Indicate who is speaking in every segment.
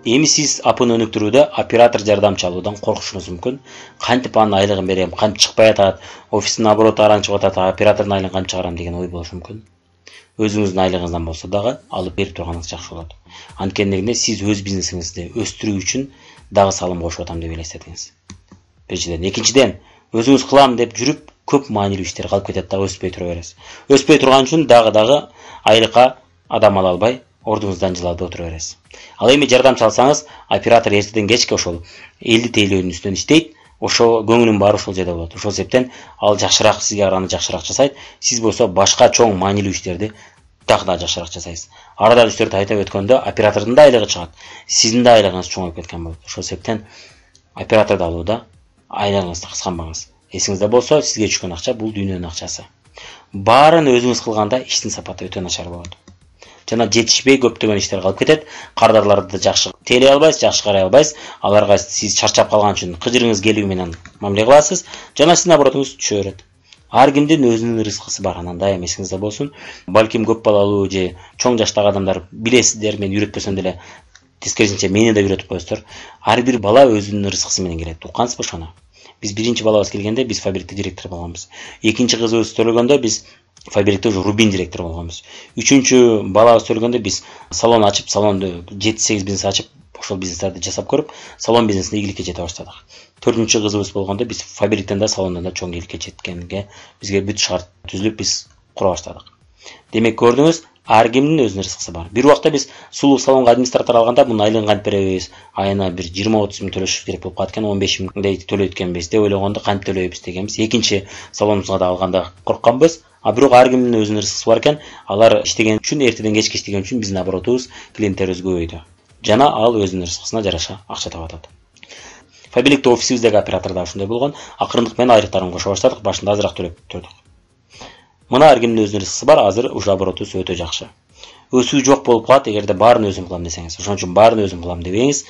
Speaker 1: Эми сиз апыны өнүктүрүүдө оператор жардамчы алуудан коркушуңуз мүмкүн. Кантип анын айлыгын берем, кантип чыкпай атат, офистин обороты араң чыгып атат, оператордун айлыгын кантип чыгарам деген ой болушу мүмкүн. Өзүңүздүн айлыгыңыздан болсо дагы алып берип турганыңыз жакшы болот. Анткени сиз өз бизнесиңизди өстүрүү үчүн дагы салым кошуп атам деп элестетиңиз. Биринчиден, экинчиден, өзүңүз кылам деп жүрүп көп маанилүү иштер калып кетет дагы өспөй тура бересиз. Өспөй турган үчүн дагы айлыкка адам ала албай ордуңуздан жылап отура бересиз. Ал эми жардамчы алсаңыз, оператор эртеден кечке ошол 50 тейлөөнүн үстүнөн иштейт, ошо көңүлүн баары ошол жерде болот. Ошол себептен ал жакшыраак сизге караганда жакшыраак жасайт. Сиз болсо башка чоң маанилүү иштерди дагы да жакшыраак жасайсыз. Арада үстөрдү айтып өткөндө оператордун да айлыгы чыгат, сиздин да айлыгыңыз чоңоюп кеткен болот. Ошол себептен операторду алууда айлыгыңызды кысканбаңыз. Эсиңизде болсо, сизге түшкөн акча бул дүйнөнүн акчасы. Баарын өзүңүз кылганда иштин сапаты өтө начар болот. Жана жетишпей көптөгөн иштер калып кетет. Кардарларды жакшы тейлей албайсыз, жакшы карай албайсыз. Аларга сиз чарчап калган үчүн кыжырыңыз келүү менен мамиле кыласыз. Жана сиздин оборотуңуз түшө берет. Ар кимдин өзүнүн рызкысы бар, анан дайым эсиңизде болсун. Балким көп балалуу же чоң жаштагы адамдар билесиздер, мен үйрөтпөсөм деле тескерисинче мени да үйрөтүп коесуздар. Ар бир бала өзүнүн рызкысы менен келет. Уккансызбы ошону? Биз биринчи балабыз келгенде биз фабрикте директор болгонбуз. Экинчи кызыбыз төлөгөндө биз фабрикте уже рубин директор болгонбуз. Үчүнчү балабыз төлөгөндө биз салон ачып, салонду 7-8 бизнес ачып, ошол бизнестерди жасап көрүп, салон бизнесине ийгиликке жете баштадык. 4-чү кызыбыз болгондо биз фабриктен да, салондон да чоң ийгиликке жеткенге бизге бүт шарт түзүлүп биз кура баштадык. Демек көрдүңүз, ар кимдин өзүнүн рызкысы бар. Бир убакта биз сулуу салонго администратор алганда мунун айлыгын кантип беребиз? Айына бир 20-30 миң төлөшүш керек болуп калат экен, 15 миңдей төлөйт экенбиз деп ойлогондо кантип төлөйбүз дегенбиз. Экинчи салонубузга да алганда коркканбыз. А бирок ар кимдин өзүнүн рызкысы бар экен. Алар иштеген үчүн, эртеден кечке иштеген үчүн биздин оборотубуз, клиенттерибиз көбөйдү. Жана ал өзүнүн рызкысына жараша акча таап атат. Фабрикте офисибиздеги оператор да ушундай болгон. Акырындык менен айлыктарын кошо баштадык, башында азыраак төлөп турдук. Мына ар кимдин өзүнүн рызкысы бар, азыр уже оборотубуз өтө жакшы. Өсүү жок болуп калат эгерде баарын өзүм кылам десеңиз. Ошон үчүн баарын өзүм кылам дебеңиз,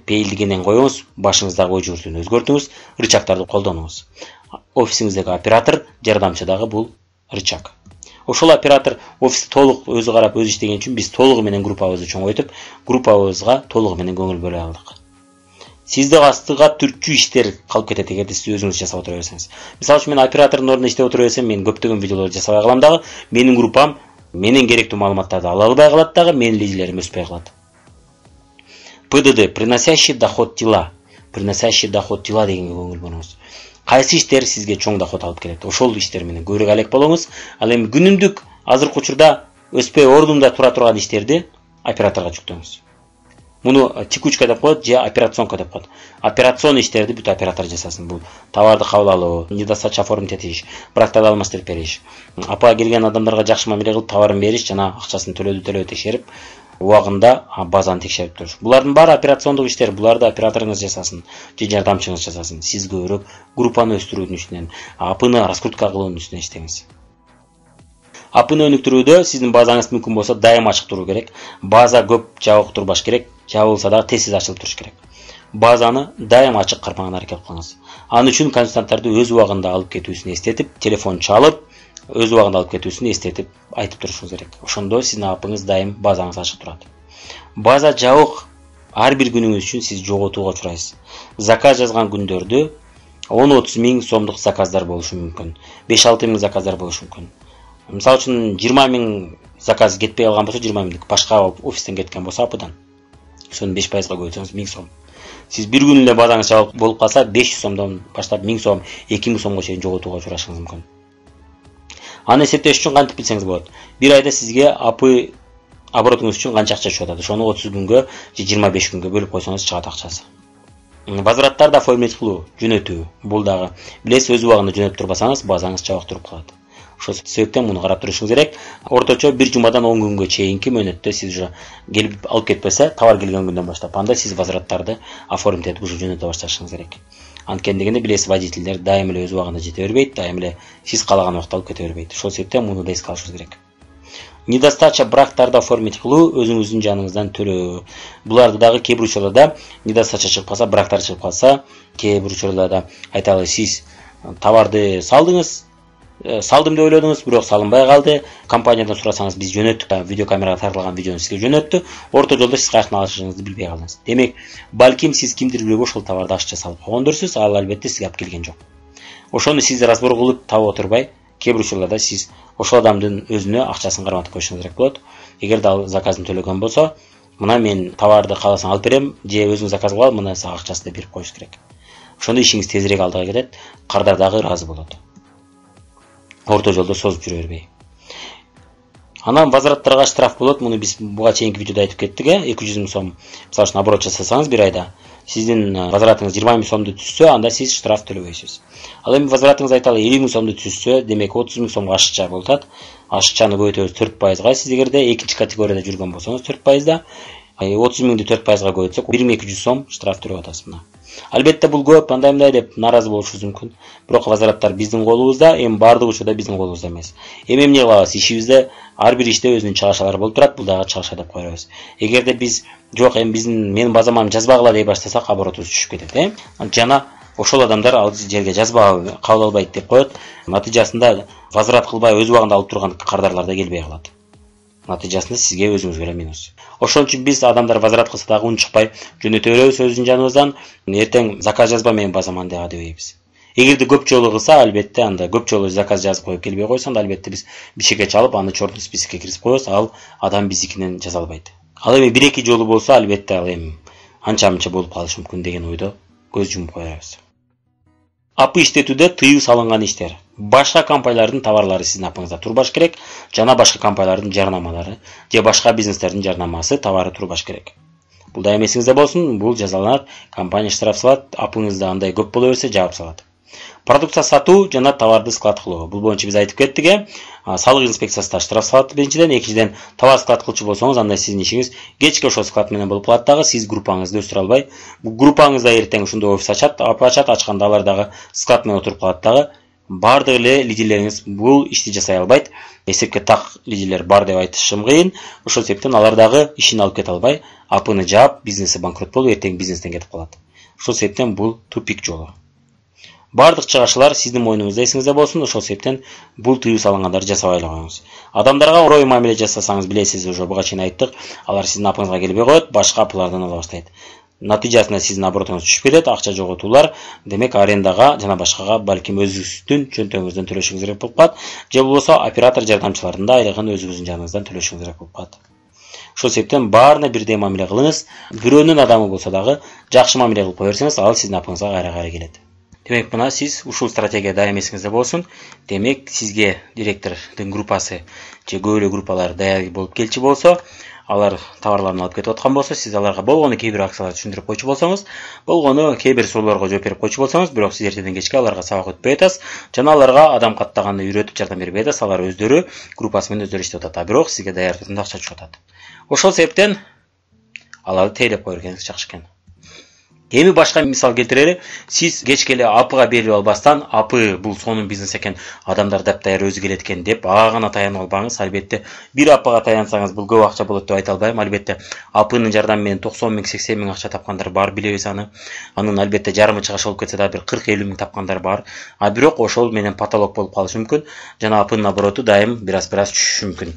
Speaker 1: пейилдигинен коюңуз, башыңыздагы ой жүгүртүүнү өзгөртүңүз, рычагтарды колдонуңуз. Офисиңиздеги оператор, жардамчыдагы бул рычаг. Ошол оператор офисти толук өзү карап, өзү иштеген үчүн биз толугу менен группабызды чоңойтуп, группабызга толугу менен көңүл бөлө алдык. Сизде астыга түртчү иштер калып кетет эгерде сиз өзүңүз жасап отура берсеңиз. Мисалы үчүн мен оператордун ордуна иштеп отура берсем, мен көптөгөн видеолорду жасабай калам дагы, менин группам менен керектүү маалыматтарды ала албай калат дагы, менин лидерлерим өспөй калат. ПДД, приносящий доход дела. Приносящий доход дела дегенге көңүл бөлүңүз. Кайсы иштер сизге чоң доход алып келет? Ошол иштер менен көбүрөөк алек болуңуз. Ал эми күнүмдүк азыркы учурда өспөй ордунда тура турган иштерди операторго жүктөңүз. Муну текучка деп коет же операционка деп коет. Операцион иштерди бүт оператор жасасын. Бул товарды кабыл алуу, недостача оформить этиш, брактарды алмаштырып бериш, апа келген адамдарга жакшы мамиле кылып товарын бериш жана акчасын төлөдү текшерип, убагында базаны текшерип туруш. Булардын баары операциондук иштер, буларды операторуңуз жасасын, же жардамчыңыз жасасын. Сиз көбүрөөк группаны өстүрүүнүн үстүнөн, апыны раскрутка кылуунун үстүнөн иштеңиз. Апыны өнүктүрүүдө сиздин базаңыз мүмкүн болсо дайым ачык туруу керек. База көп жабык турбаш керек, жабылса дагы тез ачылып туруш керек. Базаны дайым ачык кармаганга аракет кылыңыз. Ал үчүн консультанттарды өз убагында алып кетүүсүн эстетип, телефон чалып, өз убагында алып кетүүсүн эстетип айтып турушуңуз керек. Ошондо сиздин апыңыз дайым базаңыз ачык турат. База жабык ар бир күнүңүз үчүн сиз жоготууга учурайсыз. Заказ жазган күндөрдө 10-30 миң сомдук заказдар болушу мүмкүн. 5-6 миң заказдар болушу мүмкүн. Мисалы үчүн 20 миң заказ кетпей алган болсо, 20 миңдик башка офистен кеткен болсо апыдан. Ошону 5%га көбөйтсөңүз 1000 сом. Сиз бир күн эле базаңыз жабык болуп калса, 500 сомдон баштап 1000 сом, 2000 сомго чейин жоготууга учурашыңыз мүмкүн. Аны эсептеш үчүн кантип билсеңиз болот. Бир айда сизге апы оборотуңуз үчүн канча акча түшүп атат? Ошону 30 күнгө же 25 күнгө бөлүп койсоңуз чыгат акчасы. Возвраттарды оформить кылуу, жөнөтүү. Бул дагы билесиз, өз убагында жөнөтүп турбасаңыз, базаңыз жабык туруп калат. Ошол себептен муну карап турушуңуз керек. Орточо 1 жумадан 10 күнгө чейинки мөөнөттө сиз уже келип алып кетпесе, товар келген күндөн баштап, анда сиз возвраттарды оформить этип уже жөнөтө башташыңыз керек. Анткени дегенде билесиз, водительдер дайым эле өз убагында жете бербейт, дайым эле сиз каалаган убакта алып кете бербейт. Ошол себептен муну да эске алышыңыз керек. Недостача брактарды оформить кылуу, өзүңүздүн жаныңыздан төлөө. Буларды дагы кээ бир учурларда недостача чыгып калса, брактар чыгып калса, кээ бир учурларда айталы сиз товарды салдыңыз, Салдым деп ойлодуңуз, бирок салынбай калды. Компаниядан сурасаңыз биз жөнөттүк, видеокамерага тартылган видеону сизге жөнөттү. Орто жолдо сиз каяктан алышыңызды билбей калдыңыз. Демек, балким сиз кимдир бирөөгө ошол товарды акча салып койгондурсуз, ал албетте сизге алып келген жок. Ошону сиз разбор кылып таап отурбай, кээ бир учурларда сиз ошол адамдын өзүнө акчасын карматып коюшуңуз керек болот. Эгерде ал заказын төлөгөн болсо, мына мен товарды кааласаң алып берем, же өзүң заказ кылып ал, мына сага акчасын берип коюш керек. Ошондо ишиңиз тезирээк алдыга кетет, кардар дагы ыраазы болот. Орто жолдо созуп жүрө бербей. Анан возвраттарга штраф болот. Муну биз буга чейинки видеодо айтып кеттик, 200 миң сом. Мисалы үчүн оборот жасасаңыз бир айда, сиздин возвратыңыз 20 миң сомду түзсө, анда сиз штраф төлөбөйсүз. Ал эми возвратыңыз айталы 50 миң сомду түзсө, демек 30 миң сомго ашыкча болот. Ашыкчаны көбөйтөбүз 4%га. Сиз эгерде экинчи категорияда жүргөн болсоңуз 4%да, 30 миңди 4%га көбөйтсөк 1200 сом штраф төлөп атасыз мына. Албетте бул көп, андай деп наразы болушуңуз мүмкүн. Бирок возвраттар биздин колубузда, эми бардык учурда биздин колубузда эмес. Эмне кылабыз? Ишибизде ар бир иште өзүнүн чыгашалары болуп турат, бул дагы чыгаша деп кое беребиз. Эгерде биз жок, эми менин базамам жазбагыла дей баштасак, оборотубуз түшүп кетет, Жана ошол адамдар ал жерге жазба кабыл албайт деп коет. Натыйжасында возврат кылбай өз убагында алып турган кардарлар да келбей калат. Натыйжасында сизге өзүңүзгө эле минус. Ошон үчүн биз адамдар возврат кылса дагы унчукпай жөнөтө беребиз өзүнүн жаныбыздан. Эртең заказ жазба менин базаман дебейбиз. Эгерде көп жолу кылса, албетте анда көп жолу заказ жазып коюп келбей койсо, анда албетте биз бишекке чалып, аны чордун спискке киргизип коебуз, ал адам биздикинен жаза албайт. Ал эми 1-2 жолу болсо, албетте ал эми анча-мынча болуп калышы мүмкүн деген ойдо көз жумуп коебуз. АП иштетүүдө тыюу салынган иштер. Башка компаниялардын товарлары сиздин апыңызда турбаш керек, жана башка компаниялардын жарнамалары же башка бизнестердин жарнамасы, товары турбаш керек. Бул да эмесиңизде болсун, бул жазаланат, компания штраф салат, апыңызда андай көп боло берсе жаап салат. Продукция сатуу жана товарды склад кылуу. Бул боюнча биз айтып кеттик, салык инспекциясы да штраф салат биринчиден, экинчиден товар склад кылчу болсоңуз, анда сиздин ишиңиз кечке ошол склад менен болуп калат дагы, сиз группаңызды өстүрө албай, бул группаңызда эртең ушундай офис ачат, ачканда алар дагы склад менен отуруп калат дагы. Бардык эле лидерлериңиз бул ишти жасай албайт. Эсепке так лидерлер бар деп айтышым кыйын. Ошол себептен алар дагы ишин алып кете албай, апыны жаап, бизнеси банкрот болуп, эртең бизнестен кетип калат. Ошол себептен бул тупик жолу. Бардык чыгашалар сиздин мойнуңузда, эсиңизде болсун. Ошол себептен бул тыюу салынгандарды жасабай эле коюңуз. Адамдарга орой мамиле жасасаңыз, билесиз, уже буга чейин айттык, алар сиздин апыңызга келбей коет, башка апылардан ала баштайт. Натыйжасында сиздин оборотуңуз түшүп кетет, акча жоготуулар, демек арендага жана башкага балким өзүңүздүн чөнтөгүңүздөн төлөшүңүз керек болуп калат, же болбосо оператор жардамчылардын да айлыгын өзүңүздүн жаныңыздан төлөшүңүз керек болуп калат. Ошол себептен баарына бирдей мамиле кылыңыз. Бирөөнүн адамы болсо дагы жакшы мамиле кылып кое берсеңиз, ал сиздин апыңызга кайра келет. Демек, мына сиз ушул стратегия дайым эсиңизде болсун. Демек, сизге директордун группасы же көп эле группалар даяр болуп келчү болсо, алар товарларын алып кетип аткан болсо, сиз аларга болгону кээ бир акцияларды түшүндүрүп койчу болсоңуз, болгону кээ бир суроолорго жооп берип койчу болсоңуз, бирок сиз эртеден кечке аларга сабак өтпөй атасыз, жана аларга адам каттаганды үйрөтүп жардам бербей атасыз, алар өздөрү группасы менен өздөрү иштеп атат, бирок сизге даяр түрүндө акча түшүп атат. Ошол себептен аларды тейлеп кое бергениңиз жакшы экен. Эми башка мисал келтирели, сиз кечке эле апыга берип албастан, апы бул сонун бизнес экен, адамдар даяр өзү келет экен деп ага гана таянып албаңыз. Албетте бир апыга таянсаңыз бул көп акча болот деп айта албайм. Албетте апынын жардамы менен 90 миң, 80 миң акча тапкандар бар, билебиз аны. Анын албетте жарымы чыгыш болуп кетсе да бир 40-50 миң тапкандар бар. Бирок ошол менен потолок болуп калышы мүмкүн. Жана апынын обороту дайым бир-аз түшүшү мүмкүн.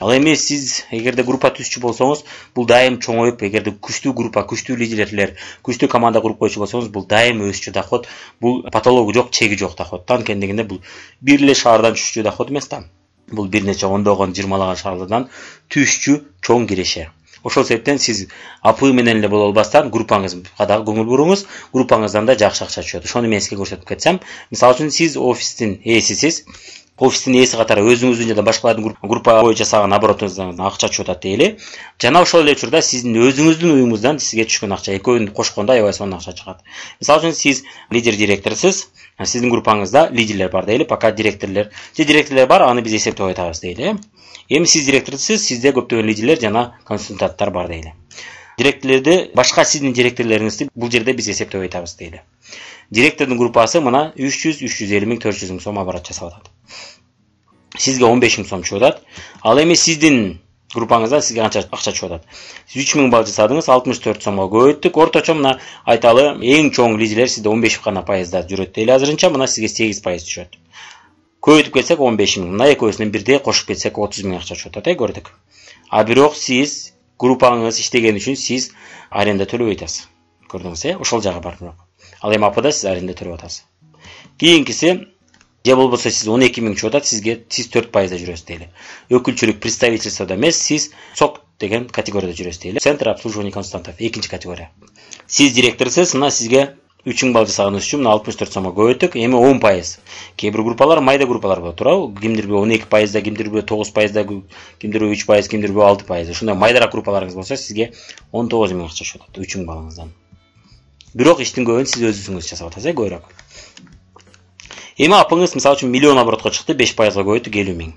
Speaker 1: Ал эми сиз эгерде группа түзчү болсоңуз, бул дайым чоңоюп, эгерде күчтүү группа, күчтүү лидерлер, күчтүү команда куруп койчу болсоңуз, бул дайым өсчү доход, бул потологу жок, чеги жок доходтан. Кендегенде бул бир эле шаардан түшчү доход эмес да. Бул бир нече ондогон, 20лаган шаарлардан түшчү чоң киреше. Ошол себептен сиз апы менен эле боло албастан группаңызга дагы көңүл буруңуз, группаңыздан да жакшы акча түшөт. Ошону мен сизге көрсөтүп кетсем, мисалы үчүн сиз офистин ээсисиз, офистин ээси катары өзүңүздүн жана башкалардын группа боюнча жасаган оборотуңуздан акча түшүп атат дейли. Жана ошол эле учурда сиздин өзүңүздүн уюмуңуздан сизге түшкөн акча, экөөнү кошкондо аябай сонун акча чыгат. Мисалы үчүн сиз лидер директорсуз, сиздин группаңызда лидерлер бар дейли, пока директорлор бар, аны биз эсептеп айтабыз дейли. Эми сиз директорсуз, сизде көптөгөн лидерлер жана консультанттар бар дейли. Директорлорду, башка сиздин директорлоруңузду бул жерде биз эсептеп айтабыз дейли. Директордун группасы мына 300-350 миң, 400 миң сом оборот жасап атат. Сизге 15 миң сом түшүп атат. Ал эми сиздин группаңызда сизге канча акча түшүп атат? Сиз 3 миң балл жасадыңыз, 64 сомго көбөйттүк. Орточо мына айталы эң чоң лидерлер сизде 15 гана пайызда жүрөт дейли азырынча, мына сизге 8% түшөт. көбөйтүп кетсек 15 миң. Мына экөөсүнөн бирдей кошуп кетсек 30 миң акча чыгып атат, көрдүк. А бирок сиз группаңыз иштеген үчүн сиз аренда төлөбөй атасыз. Көрдүңүз, ошол жагы бар бирок. Ал эми АПда сиз аренда төлөп атасыз. Кийинкиси же болбосо сиз 12 миң чыгып атат, сиз 4% жүрөсүз дейли. Өкүлчүлүк представительстводо эмес, сиз СОК деген категорияда жүрөсүз дейли. Центр обслуживания консультантов, экинчи категория. Сиз директорсуз, мына сизге 3000 балл жасаганыңыз үчүн 64 сомго көбөйттүк. Эми 10%. Кээ бир группалар майда группалар болот, туурабы? Кимдирби 12%, кимдирби 9%, кимдирби 3%, кимдирби 6%. Ушундай майдараак группаларыңыз болсо, сизге 19 миң акча чыгат 3000 баллыңыздан. Бирок иштин көбүн сиз өзүңүз жасап атасыз, көбүрөөк. Эми апыңыз мисалы үчүн миллион оборотко чыкты, 5%га көбөйттүк 50 миң.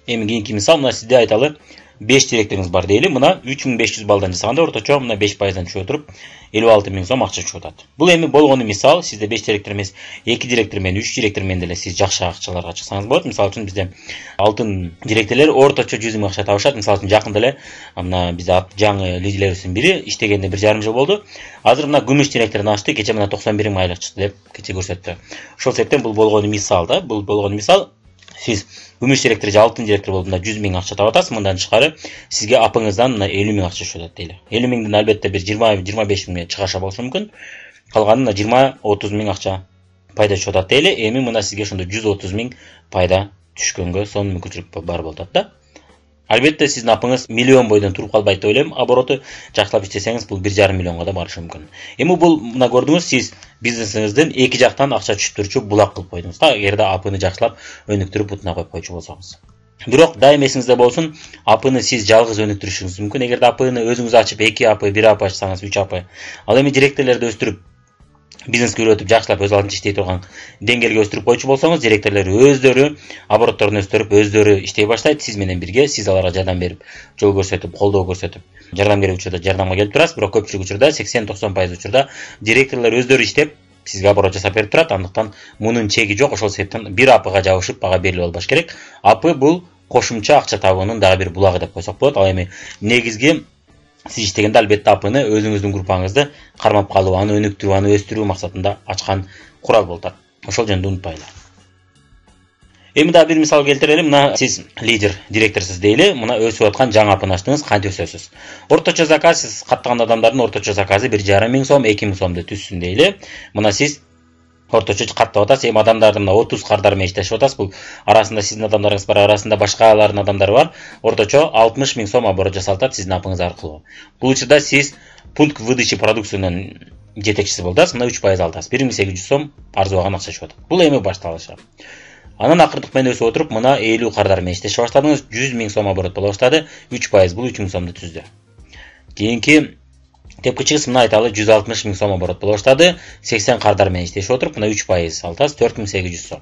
Speaker 1: Эми кийинки мисал, мына сизде айталы 5 директоруңуз бар дейли. Мына 3500 балдан жасаганда орточо мына 5%дан түшүп отуруп 56 миң сом акча чыгып атат. Бул эми болгону мисал, сизде 5 директор эмес, 2 директор менен 3 директор менен деле сиз жакшы акчаларга чыксаңыз болот. Мисалы үчүн бизде алтын директорлор орточо 100 миң акча табышат. Мисалы үчүн жакында эле мына бизде жаңы лидерлерибиздин бири иштегенде 1,5 жыл болду. Азыр мына күмүш директордун ашты, кече мына 91 миң айлык чыкты деп кече көрсөттү. Ошол себептен бул болгону мисал да, бул болгону мисал. Сиз күмүш директор же алтын директор болуп мына 100 миң акча таап атасыз, мындан тышкары сизге апыңыздан мына 50 миң акча түшөт дейли. 50 миңден албетте бир 20-25 миң чыгаша болушу мүмкүн. Калганы мына 20-30 миң акча пайда түшөт дейли. Эми мына сизге ошондо 130 миң пайда түшкөнгө сонун мүмкүнчүлүк бар болот да. Албетте сиздин апыңыз миллион бойдон туруп калбайт деп ойлойм. Обороту жакшылап иштесеңиз бул 1,5 миллионго да барышы мүмкүн. Эми бул мына көрдүңүз, сиз бизнесиңиздин эки жактан акча түшүп турчу булак кылып койдуңуз да, эгерде апыны жакшылап өнүктүрүп бутуна коюп койчу болсоңуз. Бирок дайым эсиңизде болсун, апыны сиз жалгыз өнүктүрүшүңүз мүмкүн. Эгерде апыны өзүңүз ачып 2 апы, 1 апы ачсаңыз, 3 апы. Ал эми директорлорду өстүрүп бизнеске үйрөтүп жакшылап өз алдынча иштей турган деңгээлге өстүрүп койчу болсоңуз, директорлор өздөрү оборотторун өстүрүп, өздөрү иштей баштайт, сиз менен бирге, сиз аларга жардам берип, жол көрсөтүп, колдоо көрсөтүп, жардам керек учурда жардамга келип турасыз. Бирок көпчүлүк учурда 80-90% учурда директорлор өздөрү иштеп, сизге оборот жасап берип турат. Андыктан мунун чеги жок. Ошол себептен бир апыга жабышып бага берилип албаш керек. Апы бул кошумча акча табуунун дагы бир булагы деп койсок болот. Ал эми негизги сиз иштегенде албетте апыны өзүңүздүн группаңызды кармап калуу, аны өнүктүрүү, аны өстүрүү максатында ачкан курал болот. Ошол жөнүндө унутпайлы. Эми дагы бир мисал келтирели. Мына сиз лидер, директорсуз дейли. Мына өсүп аткан жаңы апыны ачтыңыз, кантип өсөсүз? Орточо заказ, сиз каттаган адамдардын орточо заказы 1,5 миң сом, 2 миң сомду түзсүн дейли. Мына сиз орточо каттап атасыз. Эми адамдардын 30 кардар менен иштешип атасыз. Бул арасында сиздин адамдарыңыз бар, арасында башкалардын адамдары бар. Орточо 60 миң сом оборот жасалат сиздин апыңыз аркылуу. Бул учурда сиз пункт выдачи продукциянын жетекчиси болдуңуз. Мына 3% алдыңыз. 1800 сом арзыбаган акча чыгып атат. Бул эми башталышы. Анан акырдык менен өсүп отуруп, мына 50 кардар менен иштешип баштадыңыз. 100 миң сом оборот боло баштады. 3% бул 3 миң сомду түздү. Кийинки тепкичиңиз мына айталы 160 миң сом оборот боло баштады. 80 кардар менен иштешип отуруп, мына 3% алдыңыз, 4800 сом.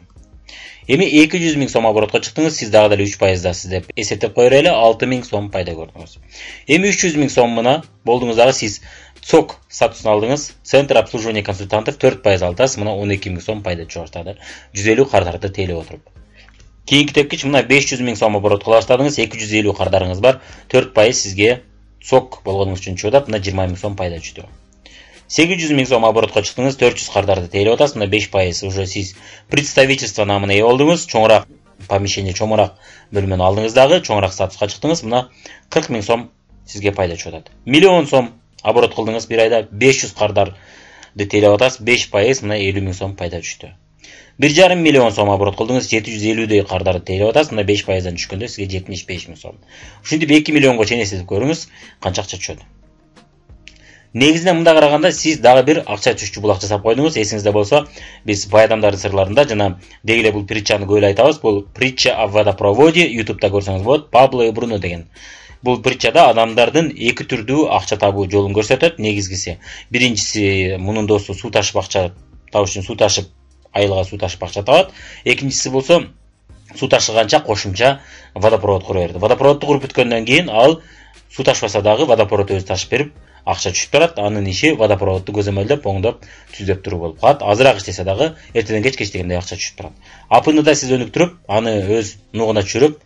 Speaker 1: Эми 200 миң сом оборотко чыктыңыз, сиз дагы деле 3% дасыз деп эсептеп коер эле, 6 миң сом пайда көрдүңүз. Эми 300 миң сом мына болдуңуз дагы сиз СОК статусун алдыңыз, Центр обслуживания консультантов 4% алдыңыз, мына 12 миң сом пайда чыга баштады. 150 кардарды тейлеп отуруп. Кийинки тепкич мына 500 миң сом оборот кыла баштадыңыз, 250 кардарыңыз бар, 4% сизге СОК болгонуңуз үчүн чыгып атат, мына 20 миң сом пайда түштү. 800 миң сом оборотко чыктыңыз, 400 кардарды тейлеп атасыз, мына 5% уже сиз представительство намына ээ болдуңуз, чоңураак помещение, чоңураак бөлмөнү алдыңыз дагы, чоңураак статуска чыктыңыз, мына 40 миң сом сизге пайда чыгып атат. Миллион сом оборот кылдыңыз бир айда, 500 кардарды тейлеп атасыз, 5% мына 50 миң сом пайда түштү. 1,5 миллион сом оборот кылдыңыз, 750 кардарды тейлеп атасыз, мына 5%дан түшкөндө сизге 75 миң сом. Ушинтип 2 миллионго чейин эсептеп көрүңүз, канча акча түшөт. Негизинен мында караганда сиз дагы бир акча түшчү булак жасап койдуңуз. Эсиңизде болсо, биз бай адамдардын сырларында жана деги эле бул притчаны көп эле айтабыз. Бул притча о водопроводе, YouTube'да көрсөңүз болот, Пабло и Бруно деген. Бул притчада адамдардын эки түрдүү акча табуу жолун көрсөтөт. Негизгиси, биринчиси мунун досу суу ташып акча табыш үчүн суу ташып, айылга суу ташып акча табат. Экинчиси болсо суу ташыганча кошумча водопровод кура берди. Водопроводду куруп бүткөндөн кийин ал суу ташпаса дагы водопровод өзү ташып берип акча түшүп турат. Анын иши водопроводду көзөмөлдөп, оңдоп, түзөп туруу болуп калат. Азыраак иштесе дагы эртеден кечке иштегенде акча түшүп турат. Апыны да сиз өнүктүрүп, аны өз нугуна түшүрүп,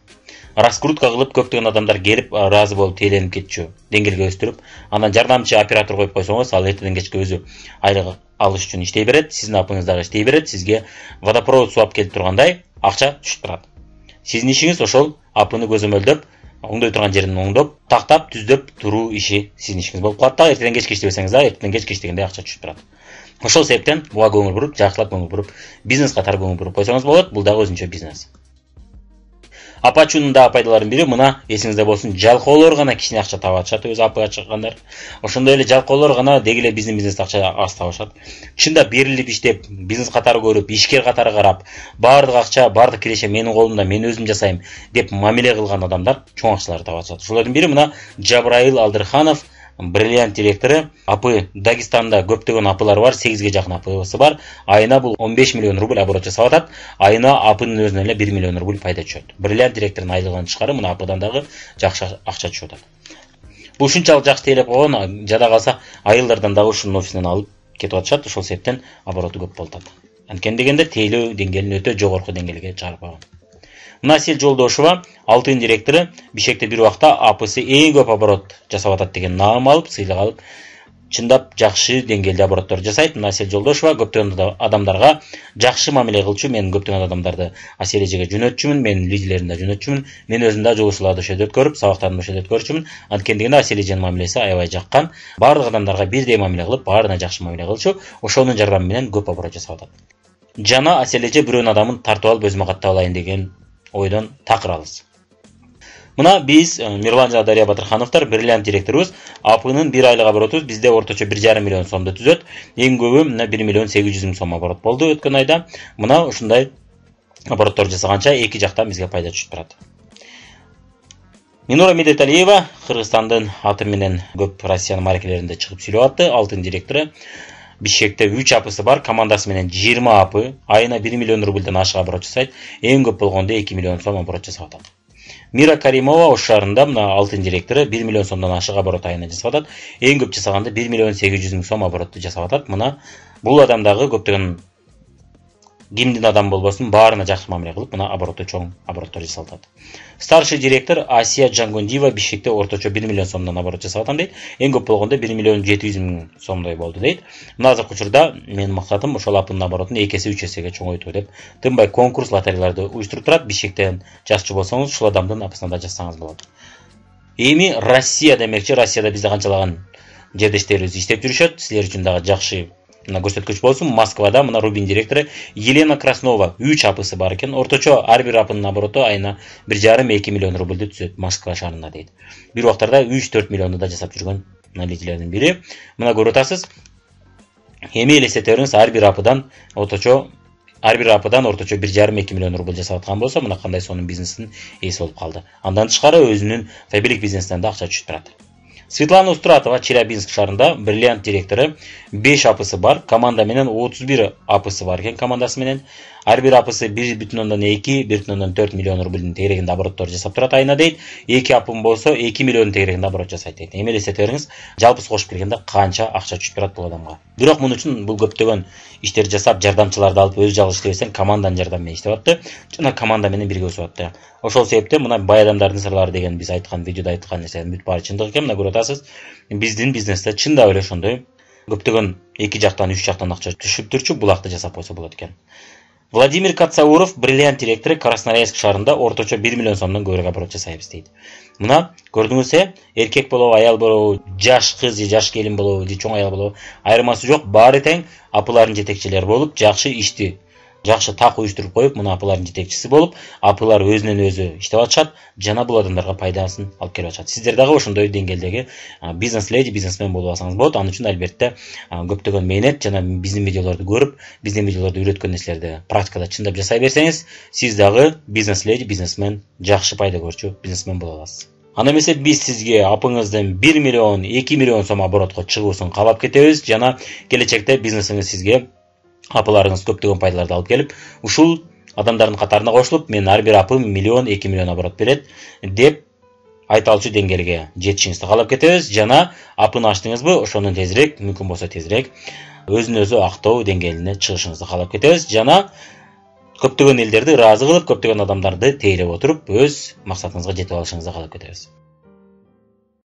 Speaker 1: раскрутка кылып көптөгөн адамдар келип ыраазы болуп тейленип кетчү деңгээлге өстүрүп, анан жардамчы оператор коюп койсоңуз, ал эртеден кечке өзү айлык алыш үчүн иштей берет, сиздин апыңыз дагы иштей берет, сизге водопровод суу алып келип тургандай акча түшүп турат. Сиздин ишиңиз ошол апыны көзөмөлдөп, оңдой турган жерин оңдоп, тактап, түздөп туруу иши сиздин ишиңиз болуп калат да, эртеден кечке иштебесеңиз да, эртеден кечке иштегенде акча түшүп турат. Ошол себептен буга көңүл буруп, жакшылап көңүл буруп, бизнес катары көңүл буруп койсоңуз болот. Бул дагы өзүнчө бизнес. Апачунун да пайдаларынын бири мына, эсиңизде болсун, жалкоолор гана кичине акча таба атышат, өзү апы ачкандар. Ошондой эле жалкоолор гана деги эле биздин бизнесте акча аз табышат. Чында берилип иштеп, бизнес катары көрүп, ишкер катары карап, баардык акча, баардык киреше менин колумда, мен өзүм жасайм деп мамиле кылган адамдар чоң акчаларды таба атышат. Ошолордун бири мына Жабраил Алдырханов, Бриллиант директору. Апы Дагестанда көптөгөн апылар бар, 8ге жакын апысы бар. Айына бул 15 миллион рубль оборот жасап атат. Айына апынын өзүнөн эле 1 миллион рубль пайда түшөт. Бриллиант директорунун айлыгынан тышкары мына апыдан дагы жакшы акча түшүп атат. Бул ушунчалык жакшы тейлеп койгон, жада калса айылдардан дагы ушунун офисинен алып кетип атышат. Ошол себептен обороту көп болуп атат. Анткени дегенде тейлөө деңгээлин өтө жогорку деңгээлге чыгарып койгон. Насил Жолдошова, Алтын директору, Бишкекте бир убакта апысы эң көп оборот жасап атат деген наам алып, сыйлык алып, чындап жакшы деңгээлде обороттор жасайт. Насил Жолдошова көптөгөн адамдарга жакшы мамиле кылчу. Мен көптөгөн адамдарды Асележеге жөнөтчүмүн, менин лидерлеримди жөнөтчүмүн. Мен өзүм да жолуучуларды ошол өткөрүп, сабактарымды ошол өткөрчүмүн. Анткени дегенде Асележенин мамилеси аябай жаккан. Баардык адамдарга бирдей мамиле кылып, баарына жакшы мамиле кылчу. Ошонун жардамы менен көп оборот жасап атат. Жана Асележе бирөөнүн адамын тартып алып өзүмө каттап алайын деген ойдон такырабыз. Мына биз Мирлан жана Дария Батырхановдор, Бриллиант директорубуз. Апынын бир айлык оборотубуз бизде орточо 1,5 миллион сомду түзөт. Эң көбү мына 1 миллион 800 миң сом оборот болду өткөн айда. Мына ушундай обороттор жасаганча эки жактан бизге пайда түшүп турат. Минура Медеталиева Кыргызстандын аты менен көп Россиянын маркелеринде чыгып сүйлөп атты. Алтын директору. Бишкекте 3 апысы бар, командасы менен 20 апы, айына 1 миллион рубльден ашык оборот жасайт. Эң көп болгондо 2 миллион сом оборот жасап атат. Мира Каримова Ош шаарында мына Алтын директору 1 миллион сомдон ашык оборот айына жасап атат. Эң көп жасаганда 1 миллион 800 миң сом оборотты жасап атат. Мына бул адамдагы көптөгөн кимдин адам болбосун баарына жакшы мамиле кылып, мына обороту чоң обороттор жасалып атат. Старший директор Асия Жангондиева Бишкекте орточо 1 миллион сомдон оборот жасап атам дейт. Эң көп болгондо 1 миллион 700 миң сомдой болду дейт. Мына азыркы учурда менин максатым ошол апынын оборотун 2 эсе 3 эсеге чоңойтуу деп тынбай конкурс лотереяларды уюштуруп турат. Бишкектен жазчу болсоңуз, ушул адамдын апысына да жазсаңыз болот. Эми Россия демекчи, Россияда бизде канчалаган жердештерибиз иштеп жүрүшөт. Силер үчүн дагы жакшы мына көрсөткүч болсун. Москвада мына Рубин директору Елена Краснова 3 апысы бар экен. Орточо ар бир апынын обороту айына 1,5-2 миллион рубльды түзөт Москва шаарында дейт. Бир убактарда 3-4 миллионду да жасап жүргөн лидерлердин бири. Мына көрүп атасыз. Эми элестете бериңиз, ар бир апыдан орточо 1,5-2 миллион рубль жасап аткан болсо, мына кандай сонун бизнестин ээси болуп калды. Андан тышкары өзүнүн фабрик бизнесинен да акча түшүп турат. Светлана Устратова Челябинск шаарында Бриллиант директору 5 апысы бар, команда менен 31 апысы бар экен командасы менен. Ар бир апысы 1,2-1,4 миллион рубльдин тегерегинде обороттор жасап турат айына дейт. 2 апым болсо 2 миллион тегерегинде оборот жасайт дейт. Эми элестете бериңиз, жалпысы кошуп келгенде канча акча түшүп турат бул адамга. Бирок муну үчүн бул көптөгөн иштер жасап, жардамчыларды алып өзү жалгыз иштебесең, команданын жардамы менен иштеп атты. Жана команда менен бирге өсүп атты. Ошол себептен мына бай адамдардын сырлары деген биз айткан видеодо айткан нерсенин бүт баары чындык экен. Мына көрүп атасыз, биздин бизнесте чындап эле ошондой көптөгөн 2 жактан 3 жактан акча түшүп турчу, булакты жасап койсо болот экен. Владимир Кацауров Бриллиант директору Красноярск шаарында орточо 1 миллион сомдон көбүрөөк оборот жасайбыз дейт. Мына көрдүңүзбү, эркек болобу, аял болобу, жаш кыз же жаш келин болобу же чоң аял болобу, айырмасы жок, баары тең апылардын жетекчилери болуп, жакшы ишти жакшы так уюштуруп коюп, мына апылардын жетекчиси болуп, апылар өзүнөн өзү иштеп атышат, жана бул адамдарга пайдасын алып келип атышат. Сиздер дагы ошондой деңгээлдеги бизнес леди, бизнесмен болуп алсаңыз болот. Анын үчүн албетте көптөгөн мээнет жана биздин видеолорду көрүп, биздин видеолорду үйрөткөн нерселерди практикада чындап жасай берсеңиз, сиз дагы бизнес леди, бизнесмен, жакшы пайда көрчү бизнесмен боло аласыз. Ана эмесе биз сизге апыңыздын 1 миллион, 2 миллион сом оборотко чыгуусун каалап кетебиз, жана келечекте бизнесиңиз сизге апыларыңыз көптөгөн пайдаларды алып келип, ушул адамдардын катарына кошулуп, мен ар бир апым 1 миллион, 2 миллион оборот берет деп айта алчу деңгээлге жетишиңизди каалап кетебиз. Жана апын ачтыңызбы, ошондон тезирээк, мүмкүн болсо тезирээк өзүн өзү актоо деңгээлине чыгышыңызды каалап кетебиз. Жана көптөгөн элдерди ыраазы кылып, көптөгөн адамдарды тейлеп отуруп өз максатыңызга жетип алышыңызды каалап кетебиз.